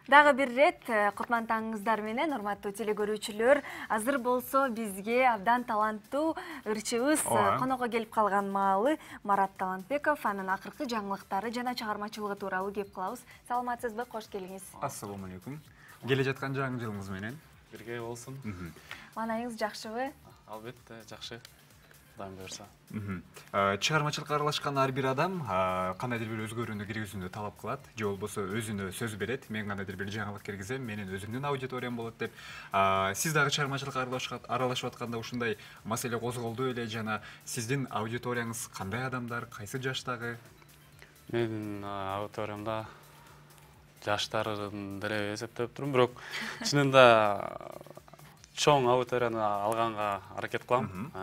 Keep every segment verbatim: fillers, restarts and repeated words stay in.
Дагы бир ирет кутман таңыңыздар менен, урматтуу телекөрүүчүлөр. Азыр болсо бизге абдан таланттуу ырчыбыз конокко келип калган маалы Марат Талантбеков, анын акыркы жаңылыктары жана чыгармачылыгы тууралуу кеп кылабыз. Саламатсызбы? Кош келиңиз. Ассаламу алейкум. Келе жаткан жаңы жылыңыз менен бирге болсун. Маанайыңыз жакшыбы? Албетте, жакшы. Кудайым буйрса. Чыгармачылыкка аралашкан ар бир адам кандайдыр бир өзгөрүүнү киргизүүнү талап кылат, же болбосо өзүнө сөз берет. Мен кандайдыр бир жаңылык киргизем, менин өзүмдүн аудиториям болот деп. Сиз дагы чыгармачылыкка аралашып атканда ушундай маселе козголду эле жана сиздин аудиторияңыз кандай адамдар, кайсы жаштагы? Менин аудиториямда жаштарын деле эсептеп турум, бирок чынында чоң аудиторияны алганга аракет кылам.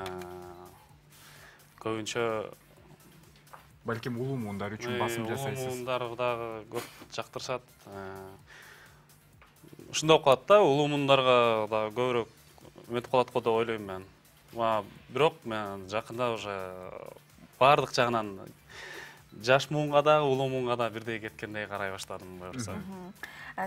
Көбүнчө балким улуу муундар үчүн басым жасайсыз. Улуу муундар дагы көп жактырышат. Ушундай калат да, улуу муундарга да көбүрөөк өтүп калат го деп ойлойм мен. Бирок мен жакында уже баардык жагынан жаш муунга да, улуу муунга да бирдей кеткендей карай баштадым буюрса.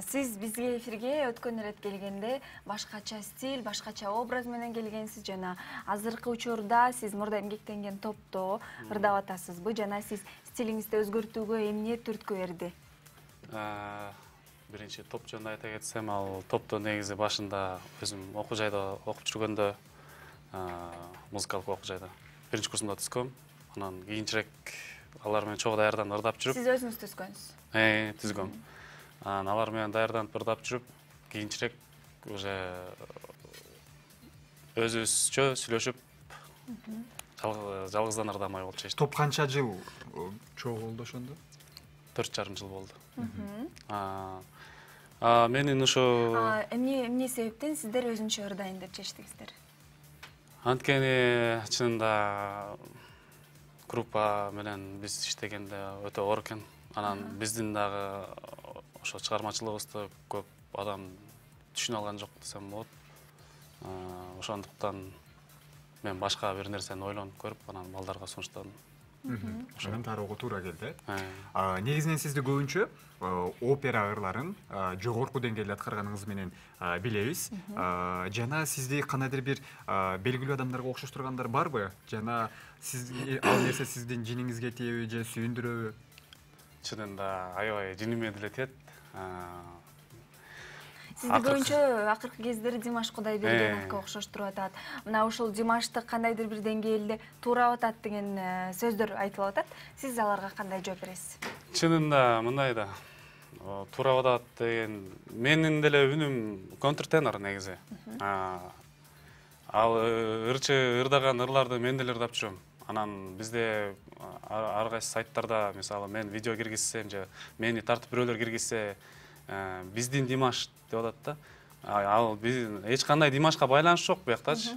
Сиз бизге эфирге өткөн ирет келгенде башкача стиль, башкача образ менен келгенсиз жана азыркы учурда сиз Мурда эмгектенген топто ырдап атасызбы жана сиз стилиңизди өзгөртүүгө эмне түрткү берди? Биринчи топ жөнүндө айта кетсем, ал топто негизи башында өзүм окуу жайда окуп жүргөндө, музыкалык окуу жайда биринчи курсумда түзгөм. Анан кийинчерээк алар менен чогуу даярдан ырдап жүрүп. Сиз өзүңүз түзгөнсүз? Э, түзгөм. Анан алар менен даярданып ырдап жүрүп, кийинчерээк уже өзүбүзчө сүйлөшүп, жалгыздан ырдамай болуп чечтик. Топ канча жыл чогуу болду ошондо? төрт жарым жыл болду. Менин ушу эмне эмне себептен сиздер өзүнчө ырдайын деп чечтиңиздер? Анткени чынында группа менен биз иштегенде өтө оор экен. Анан биздин дагы ошо чыгармачылыгыбызды көп адам түшүнө алган жок десем болот. Ошондуктан мен башка бир нерсени ойлонуп көрүп, анан балдарга сунуштадым. Ошондон тароого туура келди. Негизинен сизди көбүнчө опера ырларын жогорку деңгээлде аткарганыңыз менен билебиз. Жана сизди кандайдыр бир белгилүү адамдарга окшоштургандар барбы? Жана сиз ал нерсе сиздин жиниңизге тиеби же сүйүндүрөбү? Чынында аябай жиниме деле тиет. Сизди көбүнчө акыркы кездери Димаш Кудайбергеновго окшоштуруп атат. Мына ушул Димашты кандайдыр бир деңгээлде туурап атат деген сөздөр айтылып атат. Сиз аларга кандай жооп бересиз? Чынында мындай да. Туурап атат деген менин деле үнүм контртенор негизи. Ал ырчы ырдаган ырларды мен деле ырдап жүрөм. Анан бизде ар кайсы сайттарда, мисалы, мен видео киргизсем же мени тартып бирөөлөр киргизсе, биздин Димаш деп атат да. Ал биздин эч кандай Димашка байланыш жок буяктачы.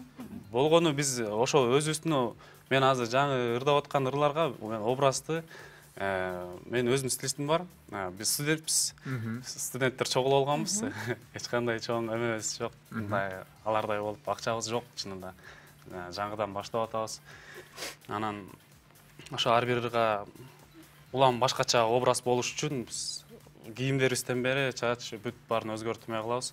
Болгону биз ошо өзүбүздүн мен азыр жаңы ырдап аткан ырларга мен образды мен өзүмдүн стилистим бар. Биз студентпиз. Студенттер чогуу болгонбуз. Эч кандай чоң эмебиз жок. Мындай алардай болуп акчабыз жок чынында. Жаңыдан баштап атабыз. Анан ошо ар бир ырга улам башкача образ болуш үчүн биз кийимдерибизден бери чач бүт баарын өзгөртмөй калабыз.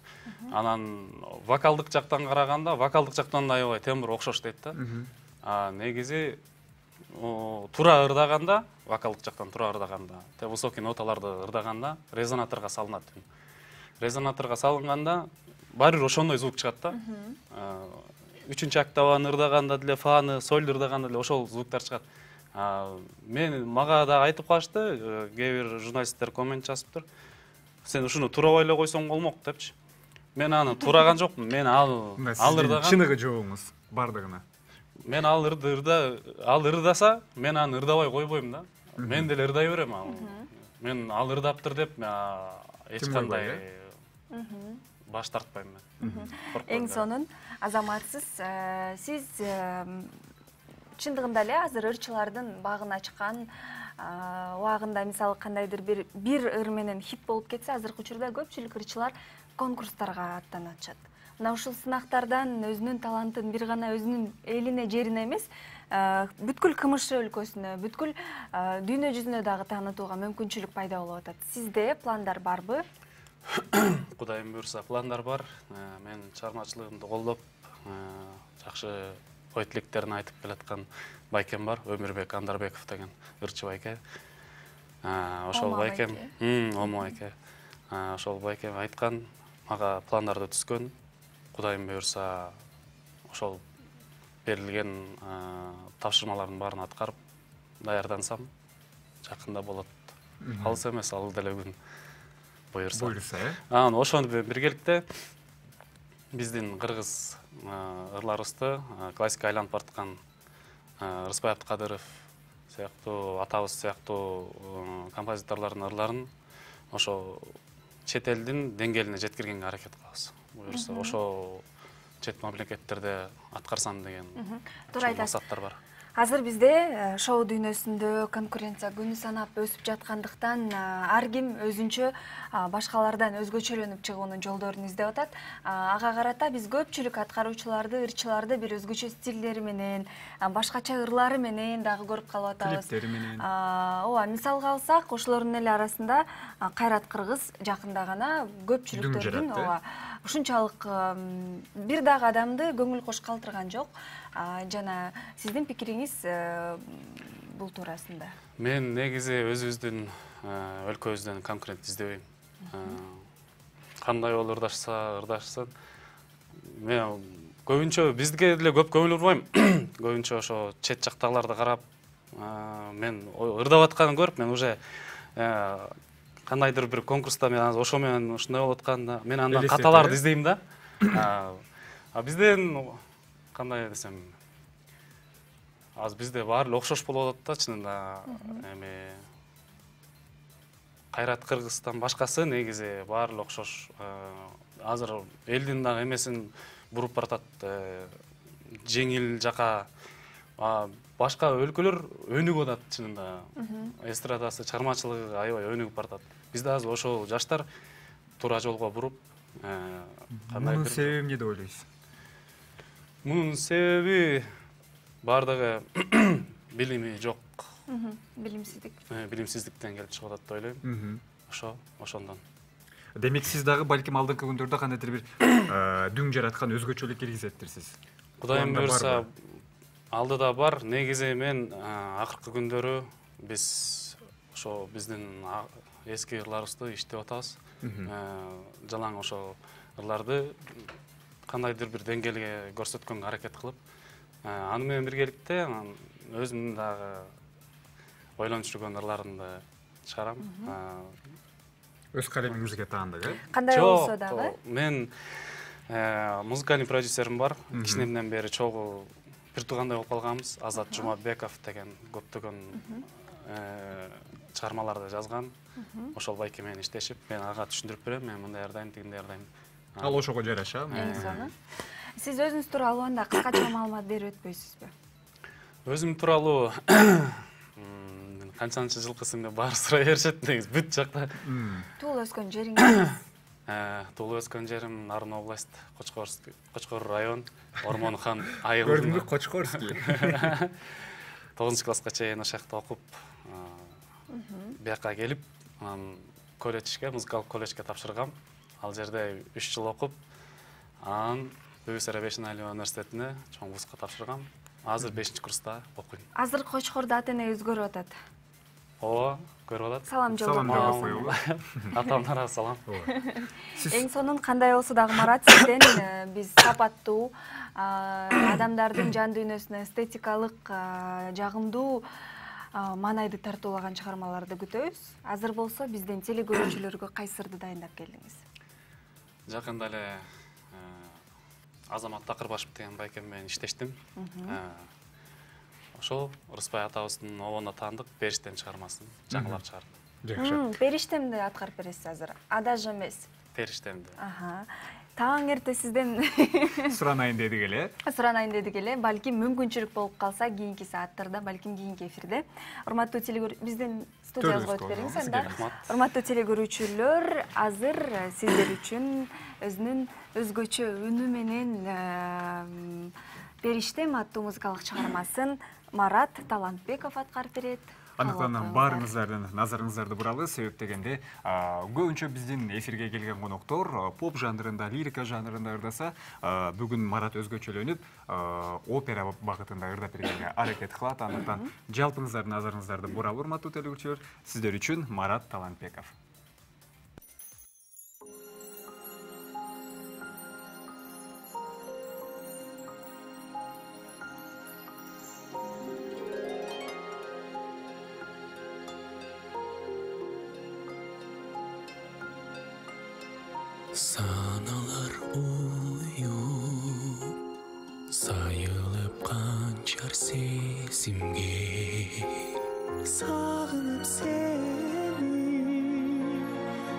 Анан вокалдык жактан караганда, вокалдык жактан да аябай тембр окшош дейт да. А негизи туура ырдаганда, вокалдык жактан туура ырдаганда, те высокий ноталарды ырдаганда резонаторго салынат. Резонаторго салынганда баары бир ошондой звук чыгат да. Үчүнчү октаваны ырдаганда деле, фаны, сольду ырдаганда деле ошол звуктар чыгат. Мен мага да айтып калышты, кээ бир журналисттер коммент жазыптыр. Сен ушуну туурабай эле койсоң болмок депчи. Мен аны туураган жокмун. Мен ал ал ырдаган. Чыныгы жоогуңуз бардыгына. Мен ал ырда ал ырдаса, мен аны ырдабай койбойм да. Мен деле ырдай берем ал. Мен ал ырдаптыр деп эч кандай баш тартпайм мен. Эң сонун азаматсыз, сиз чындыгында эле азыр ырчылардын багын ачкан убагында, мисалы, кандайдыр бир бир ыр менен хит болуп кетсе, азыркы учурда көпчүлүк ырчылар конкурстарга аттанып атышат. Мына ушул сынактардан өзүнүн талантын бир гана өзүнүн элине, жерине эмес, бүткүл КМШ өлкөсүнө, бүткүл дүйнө жүзүнө дагы таанытууга мүмкүнчүлүк пайда болуп атат. Сизде пландар барбы? Кудайым буйрса пландар бар. Мен чыгармачылыгымды колдоп, жакшы ой тилектерин айтып келаткан байкем бар, Өмүрбек Андарбеков деген ырчы байке. Ошол байкем, Омо байке. Ошол байкем айткан, мага пландарды түзгөн. Кудайым буйрса ошол берилген тапшырмалардын баарын аткарып даярдансам, жакында болот. Алыс эмес, ал деле күн буйрса. Буйрса, э? Анан ошону биргеликте биздин кыргыз ырларыбызды классика айланып бараткан Рыспай Абдыкадыров сыяктуу, атабыз сыяктуу композиторлордун ырларын ошо чет элдин деңгээлине жеткиргенге аракет кылабыз. Буюрса ошо чет мамлекеттерде аткарсам деген максаттар бар. Азыр бизде шоу дүйнөсүндө конкуренция күнү санап өсүп жаткандыктан ар ким өзүнчө башкалардан өзгөчөлөнүп чыгуунун жолдорун издеп атат. Ага карата биз көпчүлүк аткаруучуларды, ырчыларды бир өзгөчө стилдери менен, башкача ырлары менен дагы көрүп калып атабыз. Клиптери менен. Ооба, мисалга алсак, ошолордун эле арасында Кайрат Кыргыз жакында гана көпчүлүктөрдүн ооба ушунчалык бир дагы адамды көңүл кош калтырган жок. Жана сиздин пикириңиз бул туурасында? Мен негизи өзүбүздүн өлкөбүздөн конкурент издебейм. Кандай болуп ырдашса, ырдашсын. Мен көбүнчө бизге деле көп көңүл бурбайм. Көбүнчө ошо чет жактагыларды карап, мен ырдап атканын көрүп, мен уже кандайдыр бир конкурста мен ошо менен ушундай болуп атканда, мен андан каталарды издейм да. А бизден кандай десем, аз бизде баары окшош болуп атат да, чынында. Эми Кайрат Кыргыздан башкасы негизи баары окшош. Азыр элдин дагы эмесин буруп баратат, жеңил жака. Башка өлкөлөр өнүгүп атат чынында. Эстрадасы, чыгармачылыгы аябай өнүгүп баратат. Бизде азыр ошол жаштар туура жолго буруп, Мунун себеби эмне деп ойлойсуз? Мунун себеби бардыгы билими жок. Билимсиздик. Билимсиздиктен келип чыгып атат деп ойлойм. Ошо, ошондон. Демек сиз дагы балким алдыңкы күндөрдө кандайдыр бир дүң жараткан өзгөчөлүк киргизеттирсиз. Кудайым буйрса алдыда бар. Негизи мен акыркы күндөрү биз ошо биздин эски ырларыбызды иштеп атабыз. Жалаң ошо ырларды кандайдыр бир деңгээлге көрсөткөнгө аракет кылып, аны менен биргеликте өзүмдүн дагы ойлонуп жүргөн ырларымды чыгарам. Өз калемиңизге таандык, э? Кандай болсо дагы? Мен музыкальный продюсерим бар. Кичинемден бери чогуу бир туугандай болуп калганбыз. Азат Жумабеков деген көптөгөн чыгармаларды жазган. Ошол байке менен иштешип, мен ага түшүндүрүп берем, мен мындай ырдайм, тигиндей ырдайм. Ал ошого жараша. Эң сонун. Сиз өзүңүз тууралуу анда кыскача маалымат берип өтпөйсүзбү? Өзүм тууралуу канчанчы жылкысың деп баары сурай беришет, негизи бүт жакта. Туулуп өскөн жериңиз? Туулуп өскөн жерим Нарын область, Кочкор район, Ормонхан айыл. Көрдүңбү, Кочкорский. тогузунчу класска чейин ошол жакта окуп, бияка келип, колледжге, музыкалык колледжге тапшыргам. Ал жерде үч жыл окуп, анан Бөбүсара Бешеналиев университетине чоң вузга тапшыргам. Азыр бешинчи курста окуйм. Азыр Кочкордо ата-эне өзгөрүп атат. Ооба, көрүп атат. Салам жолдоп. Атамдарга салам. Эң сонун кандай болсо дагы Марат, сизден биз сапаттуу адамдардын жан дүйнөсүнө эстетикалык жагымдуу маанайды тартуулаган чыгармаларды күтөбүз. Азыр болсо бизден телекөрүүчүлөргө кайсы ырды дайындап келдиңиз? Жакында эле Азамат Такырбашев деген байкем менен иштештим. Ошол Рыспай атабыздын обондо таандык Периштем чыгармасын жаңылап чыгардым. Жакшы. Периштемди аткарып бересиз азыр. Адаж эмес. Периштемди. Таң эрте сизден суранайын дедик эле. Суранайын дедик эле. Балким мүмкүнчүлүк болуп калса, кийинки сааттарда, балким кийинки эфирде. Урматтуу телекөрүүчүлөр, биздин студиябызга өтүп бериңиз анда. Урматтуу телекөрүүчүлөр, азыр сиздер үчүн өзүнүн өзгөчө үнү менен Периштем аттуу музыкалык чыгармасын Марат Талантбеков аткарып берет. Андыктан баарыңыздардын назарыңыздарды буралы, себеп дегенде көбүнчө биздин эфирге келген коноктор поп жанрында, лирика жанрында ырдаса, бүгүн Марат өзгөчөлөнүп опера багытында ырдап бергенге аракет кылат. Андыктан жалпыңыздардын назарыңыздарды буралы, урматтуу телекөрүүчүлөр, сиздер үчүн Марат Талантбеков. Саналар уюп, сайылып канчар сезимге, сагынып сени,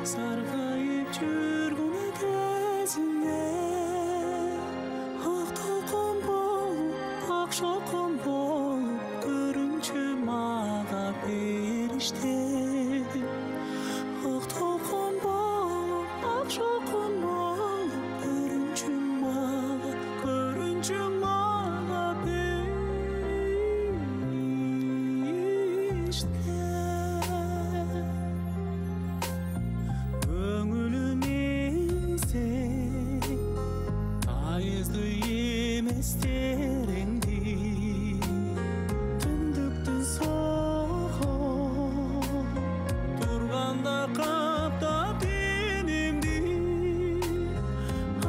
саргайып жүргөн кезине, ак толкун болуп, ак шолкун болуп, көрүнчү мага бериште. Ак толкун болуп, ак шолкун болуп, көрүнчү мага, көрүнчү мага бериште. Көңүлүм сен, айызды эмес тереңди, түндүктүн согуу турганда каптап денемди,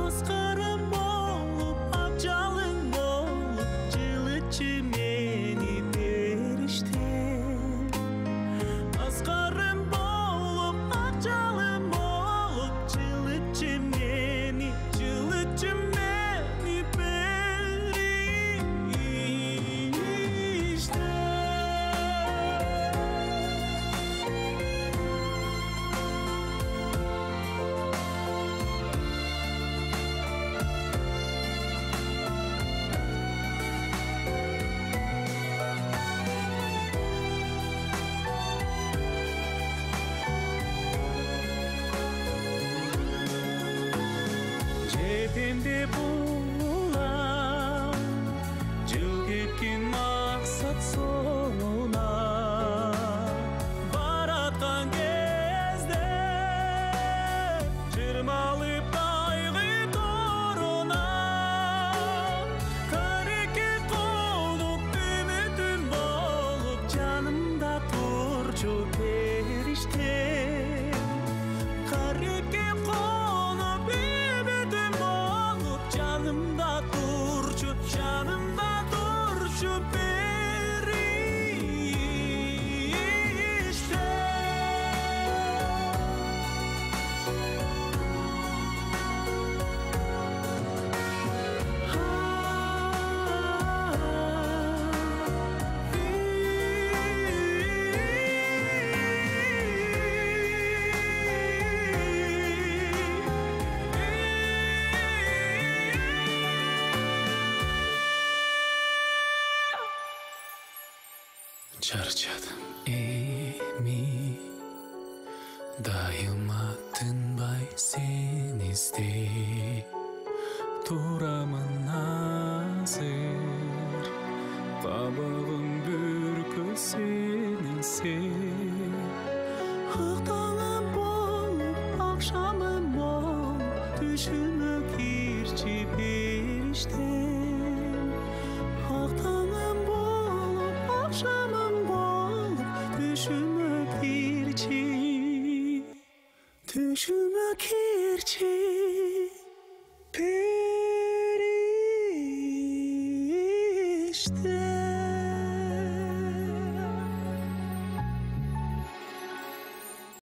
аскарым болуп, ак жалын болуп, жылытчы мени бериште. Аскарым болуп, ак жалын болуп, жылытчы мени, жылытчы мени бериште. Жепемде булам, жыл кеткен максат соңуна, бараткан кезде жырмалып кайгы торуна, кареке колуп, үмүтүм болуп, жанымда турчу бериште. Кареке колуп, үмүтүм болуп, жанымда турчу, жанымда турчу бериште. Чарчадым эми, дайыма тынбай сени издеп, турамын азыр, кабагым бүркөй сенин сен. Ак таңым болуп, акшамым болуп, түшүмө кирчи бериште. Ак таңым болуп, акшамым болуп, түшүмө кирчи, түшүмө кирчи бериште.